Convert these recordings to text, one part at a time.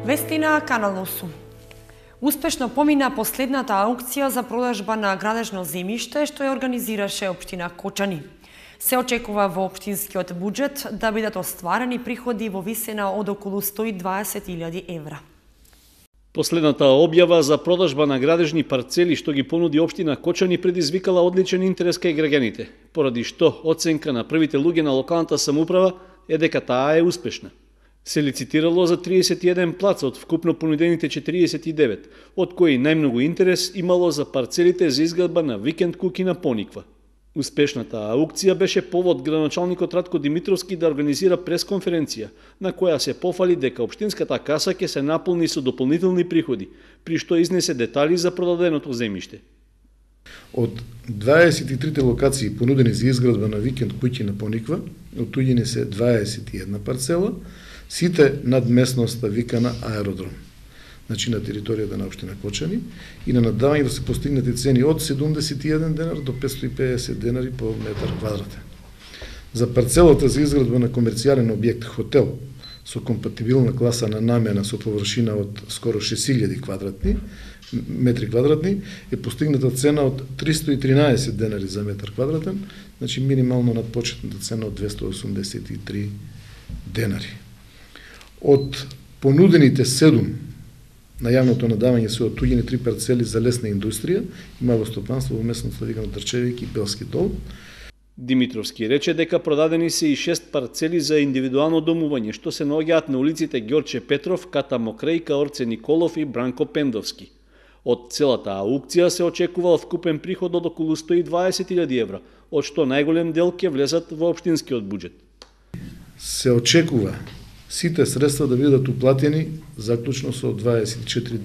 Вести на Канал 8. Успешно помина последната аукција за продажба на градежно земјиште што ја организираше општина Кочани. Се очекува во општинскиот буџет да бидат остварени приходи во висина од околу 120.000 евра. Последната објава за продажба на градежни парцели што ги понуди општина Кочани предизвикала одличен интерес кај граѓаните, поради што оценка на првите луѓе на локалната самоуправа е дека таа е успешна. Се лицитирало за 31 плаца од вкупно понудените 49, од кои најмногу интерес имало за парцелите за изградба на викенд куќи на Пониква. Успешната аукција беше повод градоначалникот Ратко Димитровски да организира пресконференција, на која се пофали дека општинската каса ќе се наполни со дополнителни приходи, при што изнесе детали за продаденото земјиште. Од 23 локации понудени за изградба на викенд куќи на Пониква, отуѓени се 21 парцела, сите над местноста викана аеродром, значи на територијата на општина Кочани, и на наддавање да се постигнати цени од 71 денар до 550 денари по метар квадратен. За парцелата за изградба на комерцијален објект хотел со компатибилна класа на намена со површина од скоро 6000 метри квадратни е постигната цена од 313 денари за метар квадратен, значи минимално над почетната цена од 283 денари. Од понудените 7 на јавното надавање се отуѓени 3 парцели за лесна индустрија и мало стопанство во местноста викано Трчевик и Белски дол. Димитровски рече дека продадени се и 6 парцели за индивидуално домување, што се наоѓаат на улиците Ѓорче Петров, Ката Мокрејка, Орце Николов и Бранко Пендовски. Од целата аукција се очекува вкупен приход од околу 120.000 евра, од што најголем дел ќе влезат во општинскиот буџет. Се очекува сите средства да бидат уплатени заклучно со 24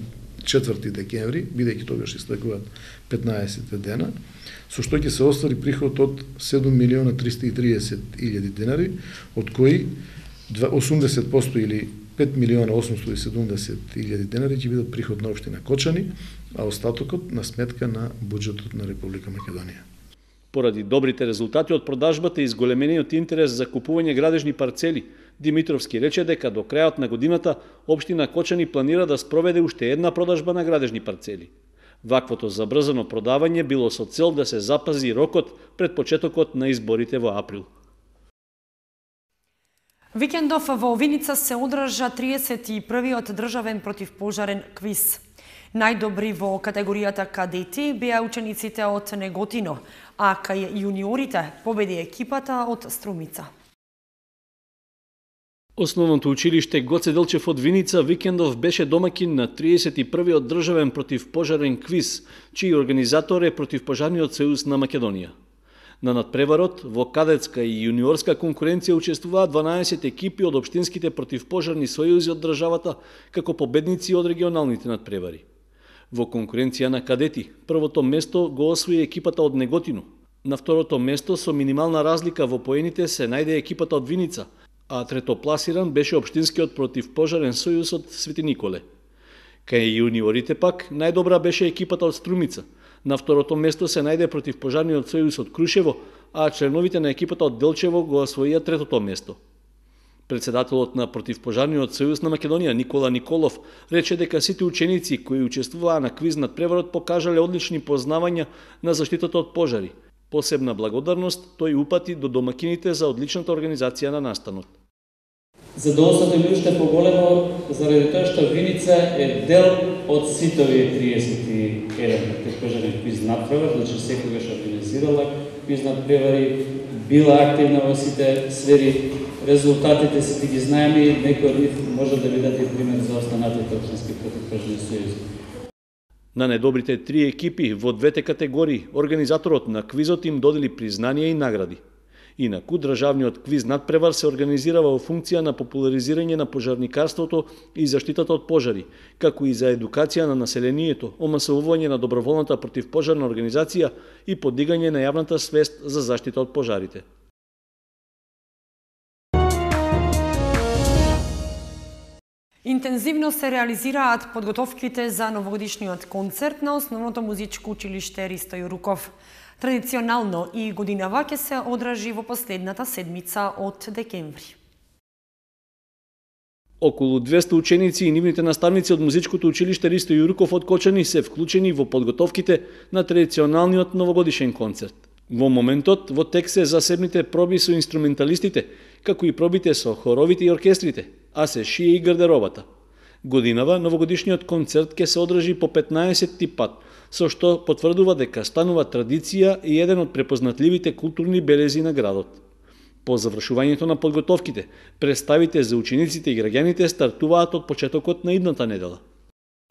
декември, бидејќи тогаш истекуваат 15 дена, со што ќе се оствари приход од 7.330.000 денари, од кои 80% или 5.870.000 денари ќе бидат приход на општина Кочани, а остатокот на сметка на буџетот на Република Македонија. Поради добрите резултати од продажбата и зголемениот интерес за купување градежни парцели, Димитровски рече дека до крајот на годината општина Кочани планира да спроведе уште една продажба на градежни парцели. Ваквото забрзано продавање било со цел да се запази рокот пред почетокот на изборите во април. Викендов во Виница се одржа 31-иот државен противпожарен квиз. Најдобри во категоријата кадети беа учениците од Неготино, а кај јуниорите победи екипата од Струмица. Основното училиште Гоце Делчев од Виница викендов беше домаќин на 31-иот државен противпожарен квиз, чиј организатор е Противпожарниот сојуз на Македонија. На надпреварот во кадетска и јуниорска конкуренција учествуваат 12 екипи од општинските противпожарни сојузи од државата како победници од регионалните надпревари. Во конкуренција на кадети, првото место го освои екипата од Неготино. На второто место со минимална разлика во поените се најде екипата од Виница, а третопласиран беше општинскиот противпожарен сојуз од Свети Николе. Кај јуниорите пак најдобра беше екипата од Струмица. На второто место се најде противпожарниот сојуз од Крушево, а членовите на екипата од Делчево го освоија третото место. Председателот на Противпожарниот сојуз на Македонија Никола Николов рече дека сите ученици кои учествуваа на квиз надпреварот покажале одлични познавања на заштитата од пожари. Посебна благодарност тој упати до домакините за одличната организација на настанот. Задоволството ми уште поголемо заради тоа што Виница е дел од сите овие 31 противпожарни квиз надпревари, значи секогаш организирала квиз надпревари, била активна во сите сфери. Резултатите сите ги знаеме и некои од нив може да бидат и пример за останатите општински противпожарни сојузи. На најдобрите 3 екипи во двете категории, организаторот на квизот им додели признанија и награди. Инаку, државниот квиз надпревар се организирава во функција на популаризирање на пожарникарството и заштитата од пожари, како и за едукација на населението, омасовување на доброволната противпожарна организација и подигање на јавната свест за заштита од пожарите. Интензивно се реализираат подготовките за новогодишниот концерт на Основното музичко училиште Ристо Јуруков. Традиционално и годинава ќе се одржи во последната седмица од декември. Околу 200 ученици и нивните наставници од музичкото училиште Ристо Јурков од Кочани се вклучени во подготовките на традиционалниот новогодишен концерт. Во моментот во тек се засебните проби со инструменталистите, како и пробите со хоровите и оркестрите, а се шие и гардеробата. Годинава новогодишниот концерт ќе се одржи по 15-ти пат, со што потврдува дека станува традиција и еден од препознатливите културни белези на градот. По завршувањето на подготовките, представите за учениците и граѓаните стартуваат од почетокот на идната недела.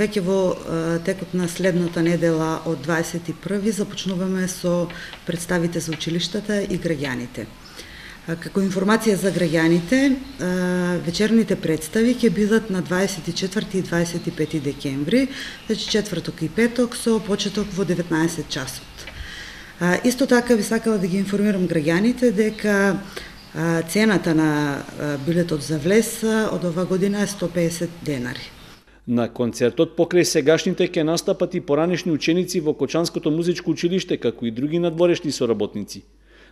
Веќе во текот на следната недела од 21 започнуваме со представите за училиштата и граѓаните. Како информација за граѓаните, вечерните представи ќе бидат на 24 и 25 декември, значи четврток и петок со почеток во 19 часот. Исто така би сакала да ги информирам граѓаните дека цената на билетот за влез од ова година е 150 денари. На концертот покрај сегашните ќе настапат и поранешни ученици во Кочанското музичко училиште, како и други надворешни соработници.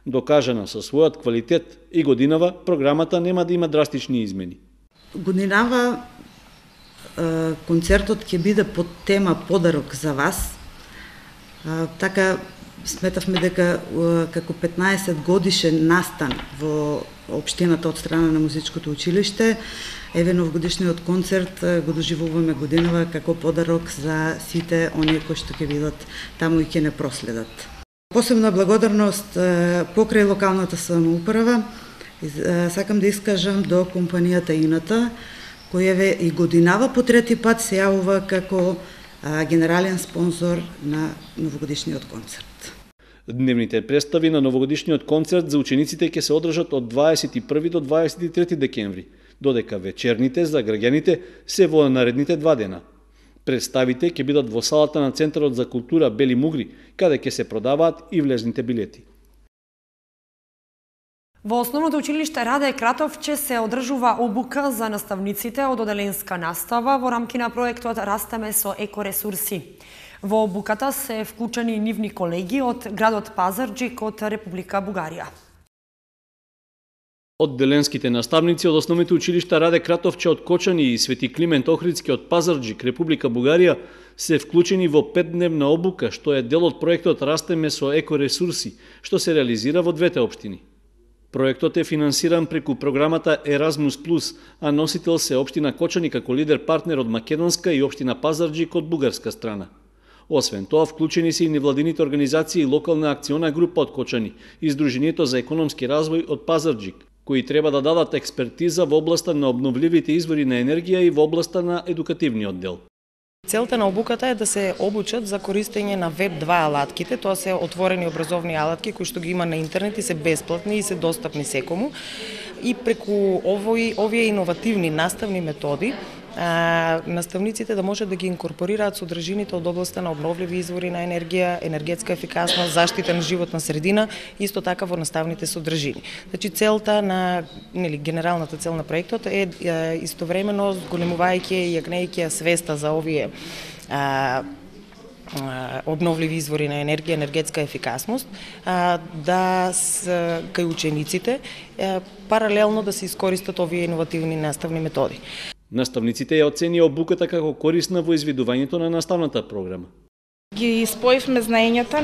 Докажана со својот квалитет и годинава, програмата нема да има драстични измени. Годинава концертот ќе биде под тема Подарок за вас. Така сметавме дека како 15 годишен настан во општината од страна на музичкото училиште, еве новогодишниот концерт го доживуваме годинава како подарок за сите оние кои што ќе бидат таму и ќе не проследат. Посебна благодарност покрај локалната самоуправа сакам да искажам до компанијата Ината, која и годинава по трети пат се јавува како генерален спонзор на новогодишниот концерт. Дневните представи на новогодишниот концерт за учениците ќе се одржат од 21 до 23 декември, додека вечерните за граѓаните се во наредните 2 дена. Представите ќе бидат во салата на Центарот за култура Бели Мугри, каде ќе се продаваат и влезните билети. Во основното училиште Раде Кратовче се одржува обука за наставниците од оделенска настава во рамки на проектот Растеме со екоресурси. Во обуката се вклучени нивни колеги од градот Пазарџик од Република Бугарија. Одделенските наставници од основните училишта Раде Кратовче од Кочани и Свети Климент Охридски од Пазарџик, Република Бугарија, се вклучени во 5-дневна обука, што е дел од проектот Растеме со екоресурси, што се реализира во двете општини. Проектот е финансиран преку програмата Erasmus+, а носител се општина Кочани како лидер партнер од македонска и општина Пазарџик од бугарска страна. Освен тоа, вклучени се и невладините организации и локална акциона група од Кочани и Сдруженијето за економски развој од Пазарџик, кои треба да дадат експертиза во областа на обновливите извори на енергија и во областа на едукативниот дел. Целта на обуката е да се обучат за користење на Web2 алатките, тоа се отворени образовни алатки кои што ги има на интернет и се бесплатни и се достапни секому. И преку овие иновативни наставни методи, наставниците да можат да ги инкорпорираат содржините од областта на обновливи извори на енергија, енергетска ефикасност, заштита на животна средина, исто така во наставните содржини. Значи целта на генералната цел на проектот е истовремено зголемувајќи и јагнејќи свеста за овие обновливи извори на енергија, енергетска ефикасност, да кај учениците паралелно да се искористат овие иновативни наставни методи. Наставниците ја оценија обуката како корисна во изведувањето на наставната програма. Ги споивме знаењата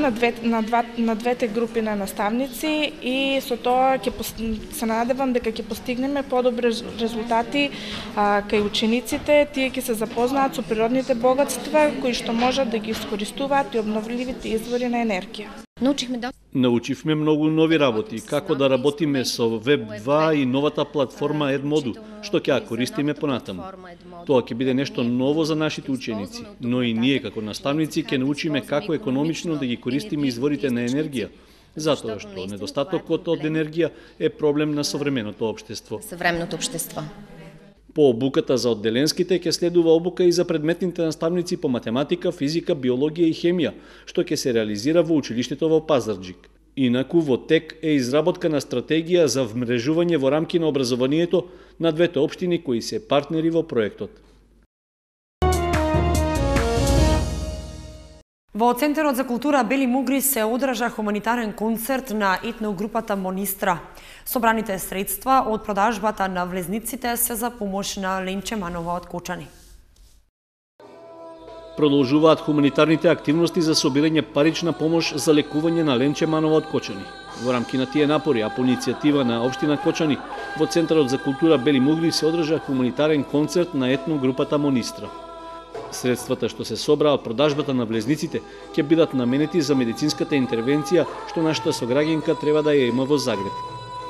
на двете групи на наставници и со тоа се надевам дека ќе постигнеме подобри резултати кај учениците. Тие ќе се запознаат со природните богатства кои што можат да ги искористуваат и обновливите извори на енергија. Научивме многу нови работи, како да работиме со Web2 и новата платформа Edmodo, што ќе ја користиме понатаму. Тоа ќе биде нешто ново за нашите ученици, но и ние како наставници ќе научиме како економично да ги користиме изворите на енергија, затоа што недостатокот од енергија е проблем на современото општество. По обуката за одделенските ќе следува обука и за предметните наставници по математика, физика, биологија и хемија, што ќе се реализира во училиштето во Пазарџик. Инаку во тек е изработка на стратегија за вмрежување во рамки на образованието на двете општини кои се партнери во проектот. Во Центарот за култура Бели Мугри се одржа хуманитарен концерт на етногрупата Монистра. Собраните средства од продажбата на влезниците се за помош на Ленче Манова од Кочани. Продолжуваат хуманитарните активности за собирање парична помош за лекување на Ленче Манова од Кочани. Во рамки на тие напори, а по иницијатива на општина Кочани, во Центарот за култура Бели Мугри се одржа хуманитарен концерт на етногрупата Монистра. Средствата што се собраа од продажбата на влезниците ќе бидат наменети за медицинската интервенција што нашата сограѓанка треба да ја има во Загреб.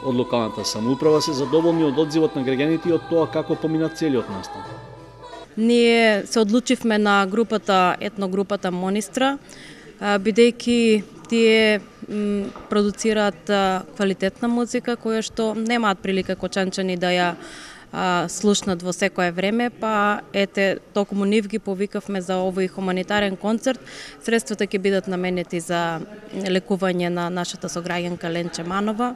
Од локалната самоуправа се задоволни од одзивот на граѓаните и од тоа како помина целиот настан. Ние се одлучивме на етногрупата Монистра, бидејќи тие продуцираат квалитетна музика која што немаат прилика кочанчани да ја слушнат во секое време, па ете, токму нив ги повикавме за овој хуманитарен концерт. Средствата ќе бидат наменети за лекување на нашата сограѓанка Ленче Манова.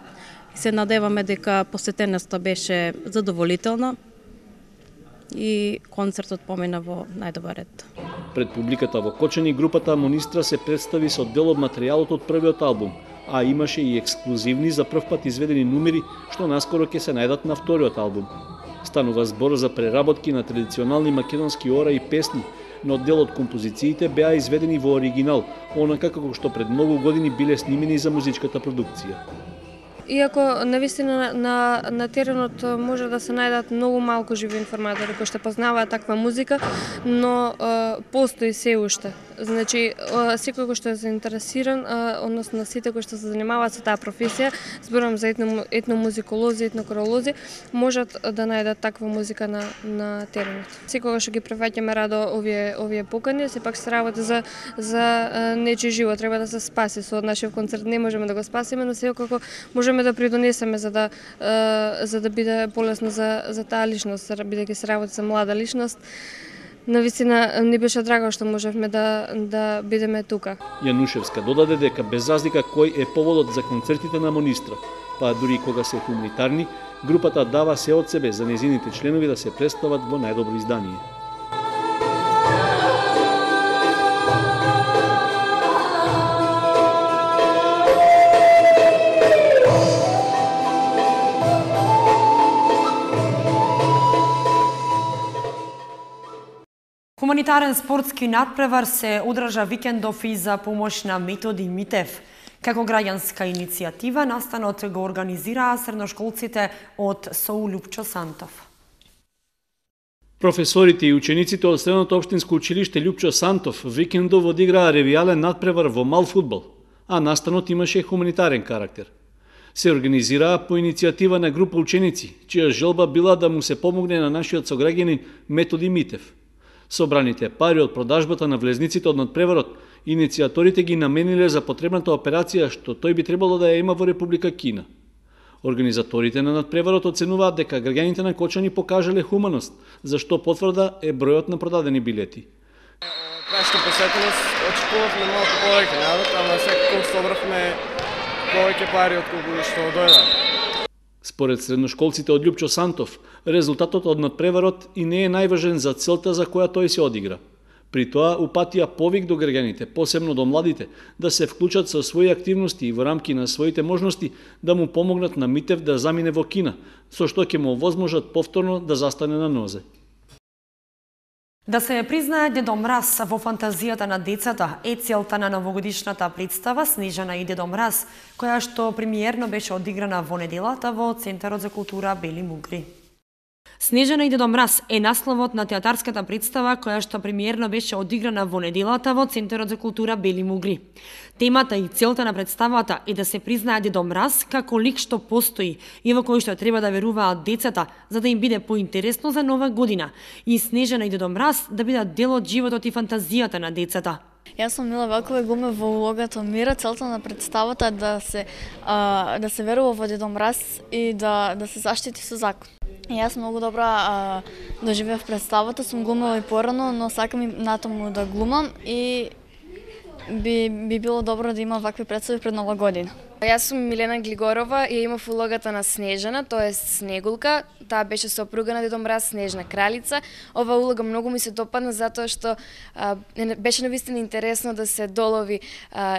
И се надеваме дека посетеноста беше задоволителна и концертот помина во најдобар ред. Пред публиката во Кочани групата Монистра се представи со дел од материјалот од првиот албум, а имаше и ексклузивни за прв пат изведени numери што наскоро ќе се најдат на вториот албум. Станува збор за преработки на традиционални македонски ора и песни, но дел од композициите беа изведени во оригинал, онака како што пред многу години биле снимени за музичката продукција. Иако навистина на теренот може да се најдат многу малку живи информатори кои што познаваат таква музика, но постои се уште. Значи, секој кој што е заинтересиран, односно сите кои што се занимаваат со таа професија, зборам за етномузиколози, етнокоролози, можат да најдат таква музика на теренот. Секогаш ги прифаќаме радо овие покани, сепак се работи за нечи живот, треба да се спаси. Со нашиот концерт не можеме да го спасиме, но секако можеме да придонесеме за да биде полесно за таа личност, бидејќи се работи за млада личност. Навистина ни беше драго што можевме да бидеме тука. Јанушевска додаде дека без разлика кој е поводот за концертите на Монистра, па дури кога се хуманитарни, групата дава се од себе за незините членови да се представат во најдобро издание. Хуманитарен спортски надпревар се одржа викендов и за помош на Методи Митев. Како граѓанска иницијатива, настанот го организираа средношколците од СОУ Лјупчо Сантов. Професорите и учениците од Средното општинско училиште Лјупчо Сантов викендов одиграа ревијален надпревар во мал фудбал, а настанот имаше хуманитарен карактер. Се организираа по иницијатива на група ученици, чија желба била да му се помогне на нашиот сограѓанин Методи Митев. Собраните пари од продажбата на влезниците од надпреварот, иницијаторите ги намениле за потребната операција што тој би требало да ја има во Република Кина. Организаторите на надпреварот оценуваат дека граѓаните на Кочани покажале хуманост, за што потврда е бројот на продадени билети. Нашата посетеност очекувавме малку повеќе народ, ама секако собравме повеќе пари од колку што дојде. Според средношколците од Лјупчо Сантов, резултатот од надпреварот и не е најважен за целта за која тој се одигра. При тоа упатија повик до граѓаните, посебно до младите, да се вклучат со своји активности и во рамки на своите можности да му помогнат на Митев да замине во Кина, со што ќе му овозможат повторно да застане на нозе. Да се признае Дедо Мраз во фантазијата на децата е целта на новогодишната представа Снежана и Дедо Мраз, која што премиерно беше одиграна во неделата во Центарот за култура Бели Мугри. Снежана и Дедо Мраз е насловот на театарската представа која што премиерно беше одиграна во неделата во Центарот за култура Бели Мугри. Темата и целта на представата е да се признае Дедо Мраз како лик што постои и во кој што треба да веруваат децата за да им биде поинтересно за нова година и Снежана и Дедо Мраз да бидат дел од животот и фантазијата на децата. Јас сум Мила Велкова и глумев во улогата Мира. Целта на представата е да се верува во Дедо Мраз и да се заштити со закон. Јас многу добра доживеав представата, сум глумела и порано, но сакам и натаму да глумам и би било добро да има вакви представи пред Нова година. Јас сум Милена Глигорова и имав улогата на Снежана, тоест Снегулка. Таа беше сопруга на Дедо Мраз, Снежна кралица. Ова улога многу ми се допадна затоа што беше навистина интересно да се долови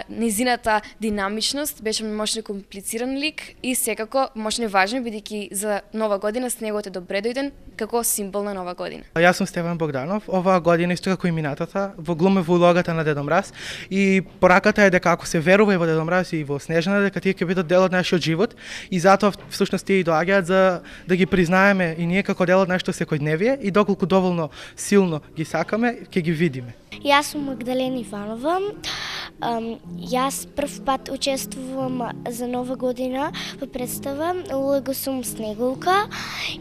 незината динамичност, беше мощно комплициран лик и секако мощно важен бидејќи за Нова година снегот е добре дојден како символ на Нова година. Јас сум Стефан Богданов. Оваа година исто како и минатата во глумев улогата на Дедо Мраз и пораката е дека ако се верува и во Дедо Мраз и во Снежана, дека тие ќе бидат дел од нашиот живот и затоа всушност тие и доаѓаат за да ги признаеме и ние како дел од нашето секојдневие и доколку доволно силно ги сакаме, ќе ги видиме. Јас сум Магдалена Иванова. Јас прв пат учествувам за Нова година во представа. Улога сум Снегулка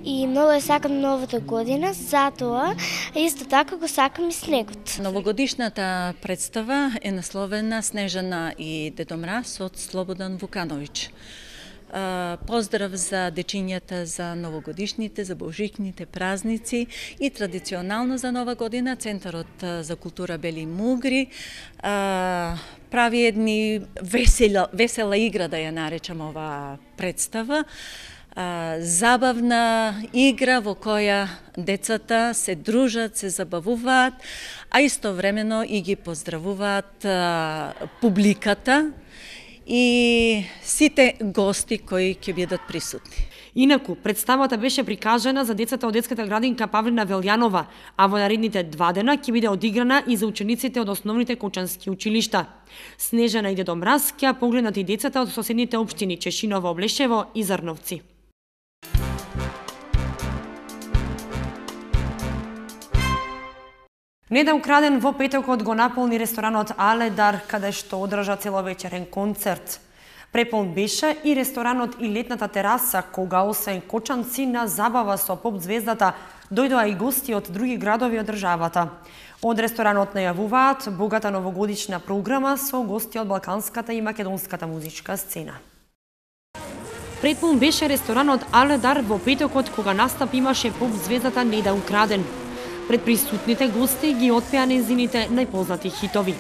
и многу ја сакам новата година, затоа исто така го сакам и снегот. Новогодишната представа е насловена Снежана и Дедо Мраз од Слободан Вукановиќ. Поздрав за дечињата за новогодишните, за божикните празници и традиционално за Нова година Центарот за култура Бели Мугри прави едни весела игра, да ја наречам ова представа. Забавна игра во која децата се дружат, се забавуваат, а истовремено и ги поздравуваат публиката и сите гости кои ќе бидат присутни. Инаку, представата беше прикажана за децата од детската градинка Павлина Велјанова, а во наредните 2 дена ќе биде одиграна и за учениците од основните кочански училишта. Снежана и Дедо Мраз ќе погледнат и децата од соседните општини Чешиново, Облешево и Зрновци. Неда украден во петокот го наполни ресторанот Аледар, каде што одржа целовечерен концерт. Преполн беше и ресторанот и летната тераса, кога освен кочанци на забава со поп звездата, дојдоа и гости од други градови од државата. Од ресторанот најавуваат богата новогодишна програма со гости од балканската и македонската музичка сцена. Преполн беше ресторанот Аледар во петокот, кога настап имаше поп звездата Неда украден. Пред присутните гости ги отпеа незините најпознати хитови.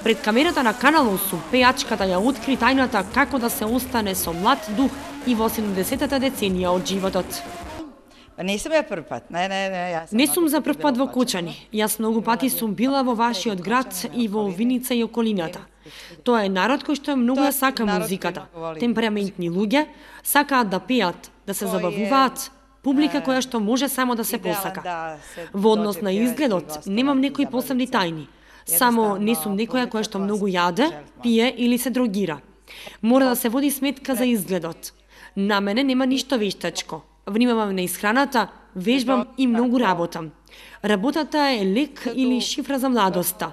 Пред камерата на Канал 8, пејачката ја откри тајната како да се остане со млад дух и во 70-та деценија од животот. Не сум ја прв пат. Не сум за прв пат во Кочани. Јас многу пати сум била во вашиот град и во Виница и околината. Тоа е народ кој што е многу ја сака музиката. Темпераментни луѓе, сакаат да пеат, да се забавуваат, публика која што може само да се посака. Во однос на изгледот, немам некои посебни тајни. Само не сум некоја која што многу јаде, пие или се дрогира. Мора да се води сметка за изгледот. На мене нема ништо вештачко. Внимавам на исхраната, вежбам и многу работам. Работата е лек или шифра за младоста.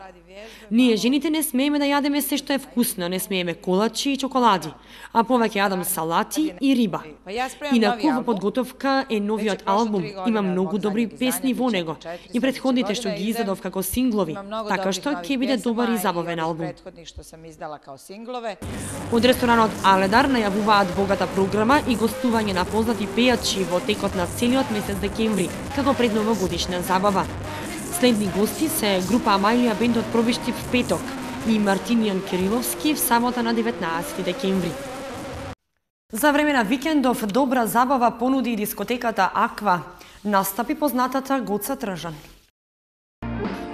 Ние жените не смееме да јадеме се што е вкусно, не смееме колачи и чоколади, а повеќе јадам салати и риба. Инаку во подготовка е новиот албум, има многу добри песни во него и претходните што ги издадов како синглови, така што ќе биде добар и забавен албум. Од ресторанот Аледар најавуваат богата програма и гостување на познати пејачи во текот на целиот месец декември, како предновогодишна забава. Следни гости се група Амајлија бенд од Пробишти в петок и Мартинијан Кириловски в сабота на 19 декември. За време на викендов добра забава понуди и дискотеката Аква. Настапи познатата Гоца Тржан.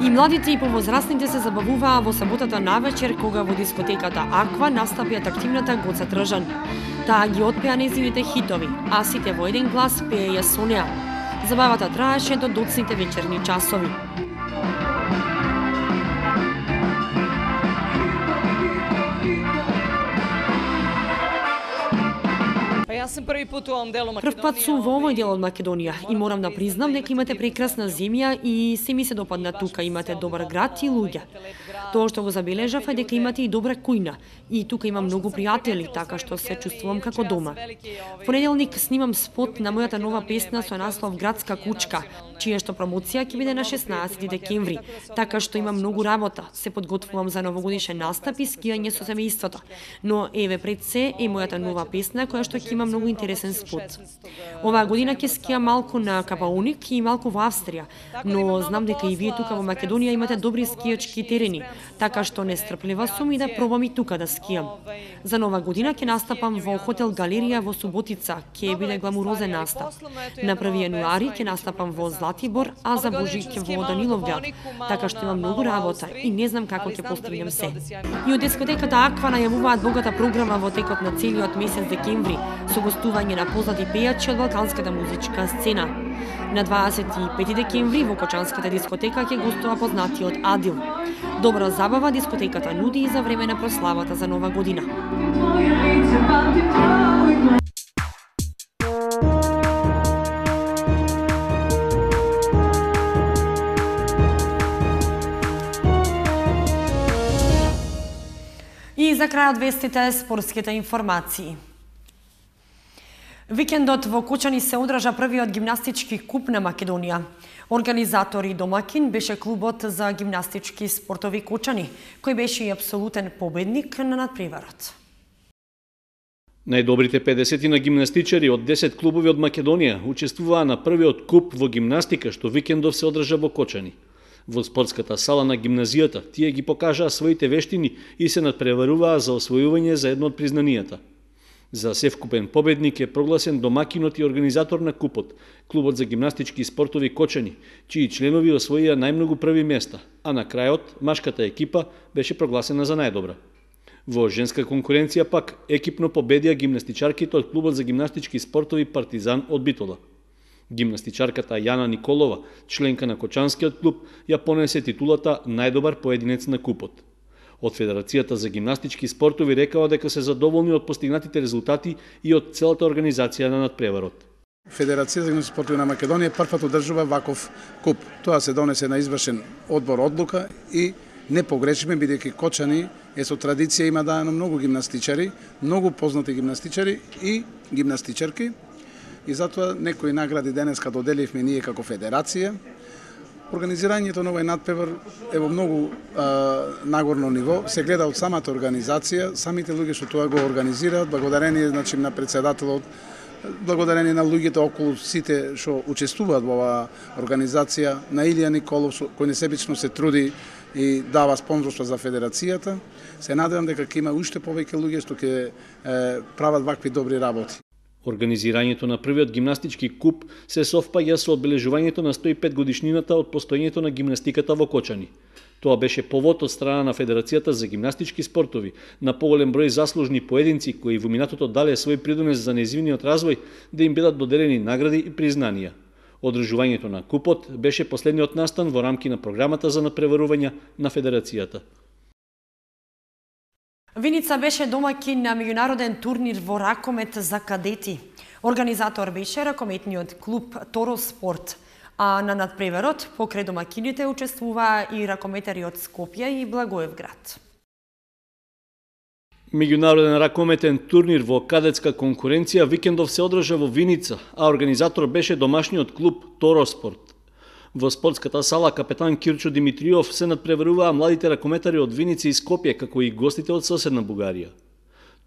И младите и повозрастните се забавуваа во саботата навечер, кога во дискотеката Аква настапи атрактивната Гоца Тржан. Таа ги отпеа незините хитови, а сите во еден глас пееја со неа. Забавата траеше до доцните вечерни часови. Јас сум први пат во овој дел од Македонија. Прв пат сум во овој дел од Македонија и морам да признам дека имате прекрасна земја и се ми се допадна тука, имате добар град и луѓе. Тоа што го забележав е дека имате и добра кујна и тука имам многу пријатели, така што се чувствувам како дома. Понеделник снимам спот на мојата нова песна со наслов Градска кучка. чија што промоција ќе биде на 16 декември, така што има многу работа. Се подготвувам за новогодишен настап и скијање со семејството. Но еве пред се е мојата нова песна која што ќе има многу интересен спот. Оваа година ќе скијам малку на Капауник и малку во Австрија, но знам дека и вие тука во Македонија имате добри скијачки терени, така што нестрплива сум и да пробам и тука да скијам. За нова година ќе настапам во хотел Галерија во Суботица, ќе биде гламурозен настап. На 1 јануари ќе настапам во Златибор, а за Божик во Даниловград, така што имам многу работа и не знам како ќе постигнем се. И од дискотеката Аква најавуваат богата програма во текот на целиот месец декември, со гостување на познати пејачи од балканската музичка сцена. На 25 декември во Кочанската дискотека ќе гостува познатиот Адил. Добра забава дискотеката нуди и за време на прославата за нова година. И за крајот вестите спортските информации. Викендот во Кочани се одржа првиот гимнастички куп на Македонија. Организатор и домакин беше клубот за гимнастички спортови Кочани, кој беше и апсолутен победник на надпреварот. Најдобрите 50 на гимнастичари од 10 клубови од Македонија учествуваа на првиот куп во гимнастика што викендов се одржа во Кочани. Во спортската сала на гимназијата тие ги покажаа своите вештини и се надпреваруваа за освојување за едно од признанијата. За севкупен победник е прогласен домакинот и организатор на купот, клубот за гимнастички спортови Кочани, чии членови освоија најмногу први места, а на крајот машката екипа беше прогласена за најдобра. Во женска конкуренција пак екипно победија гимнастичарките од клубот за гимнастички спортови Партизан од Битола. Гимнастичарката Јана Николова, членка на Кочанскиот клуб, ја понесе титулата најдобар поединец на купот. Од Федерацијата за гимнастички спортови рекаа дека се задоволни од постигнатите резултати и од целата организација на надпреварот. Федерацијата за гимнастички спортови на Македонија првпат одржува ваков куп. Тоа се донесе на извршен одбор одлука и не погрешиме, бидејќи Кочани е со традиција, има даено многу гимнастичари, многу познати гимнастичари и гимнастичарки, и затоа некои награди денеска доделивме ние како федерација. Организирањето на овој надпревар е во многу нагорно ниво, се гледа од самата организација, самите луѓе што тоа го организираат, благодарение на председателот, благодарение на луѓето околу сите што учествуваат во оваа организација, на Илија Николов кој несебично се труди и дава спонзорство за федерацијата. Се надевам дека ќе има уште повеќе луѓе што ќе прават вакви добри работи. Организирањето на првиот гимнастички куп се совпаѓа со одбележувањето на 105 годишнината од постоењето на гимнастиката во Кочани. Тоа беше повод од страна на Федерацијата за гимнастички спортови на поголем број заслужни поединци кои во минатото дале свој придонес за нејзивниот развој да им бидат доделени награди и признанија. Одржувањето на купот беше последниот настан во рамки на програмата за надпреварување на Федерацијата. Виница беше домакин на меѓународен турнир во ракомет за кадети. Организатор беше ракометниот клуб Торо Спорт, а на надпреварот покрај домакините учествуваа и ракометари од Скопје и Благоевград. Меѓународен ракометен турнир во кадетска конкуренција викендов се одржа во Виница, а организатор беше домашниот клуб Торо Спорт. Во спортската сала капетан Кирчо Димитриов се надпреваруваа младите ракометари од Виница и Скопје, како и гостите од соседна Бугарија.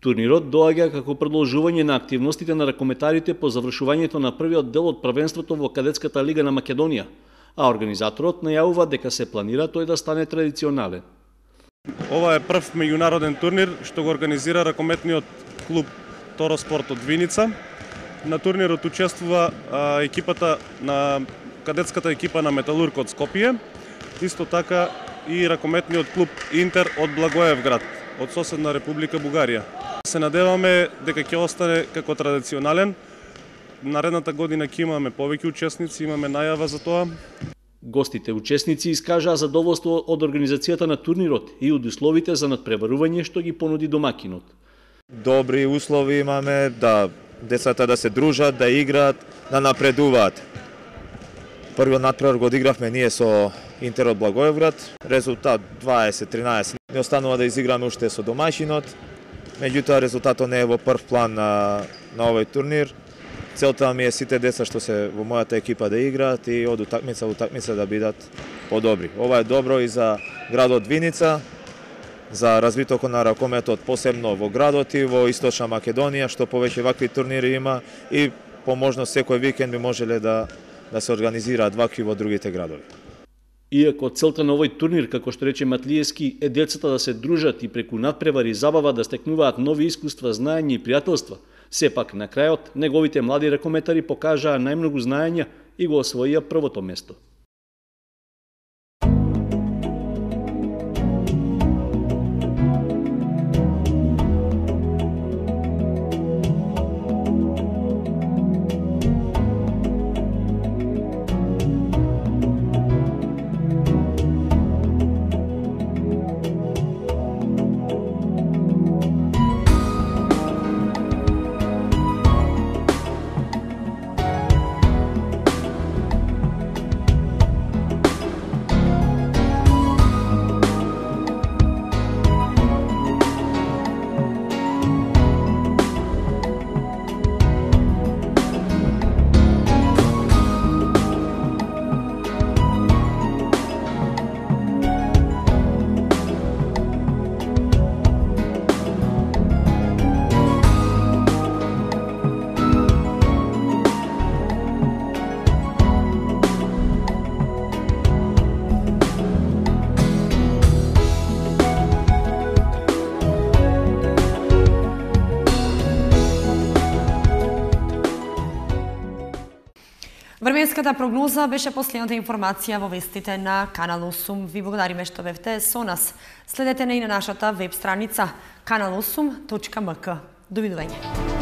Турнирот доаѓа како продолжување на активностите на ракометарите по завршувањето на првиот дел од првенството во кадетската лига на Македонија, а организаторот најавува дека се планира тој да стане традиционален. Ова е прв меѓународен турнир што го организира ракометниот клуб Торо Спорт од Виница. На турнирот учествува екипата на кадетската екипа на Металург од Скопје, исто така и ракометниот клуб Интер од Благоевград, од соседна Република Бугарија. Се надеваме дека ќе остане како традиционален. Наредната година ќе имаме повеќе учесници, имаме најава за тоа. Гостите учесници искажаа задоволство од организацијата на турнирот и од условите за надпреварување што ги понуди домакинот. Добри услови имаме, да децата да се дружат, да играат, да напредуваат. Првиот надпревар го одигравме ние со Интер од Благоевград, резултат 20-13. Не останува да изиграме уште со домајшинот, меѓутоа резултатот не е во прв план на овој турнир. Целта ми е сите деца што се во мојата екипа да играат и од утакмица во утакмица да бидат подобри. Ова е добро и за градот Виница, за развитокот на ракометот, посебно во градот и во Источна Македонија, што повеќе вакви турнири има и по можност секој викенд би можеле да се организираат вакви во другите градови. Иако целта на овој турнир, како што рече Матлиевски, е децата да се дружат и преку надпревари и забава да стекнуваат нови искуства, знаења и пријателства, сепак на крајот неговите млади ракометари покажаа најмногу знаења и го освоија првото место. Временската прогноза беше последната информација во вестите на Канал 8. Ви благодариме што бевте со нас. Следете на и на нашата веб страница kanal8.mk. Довидување.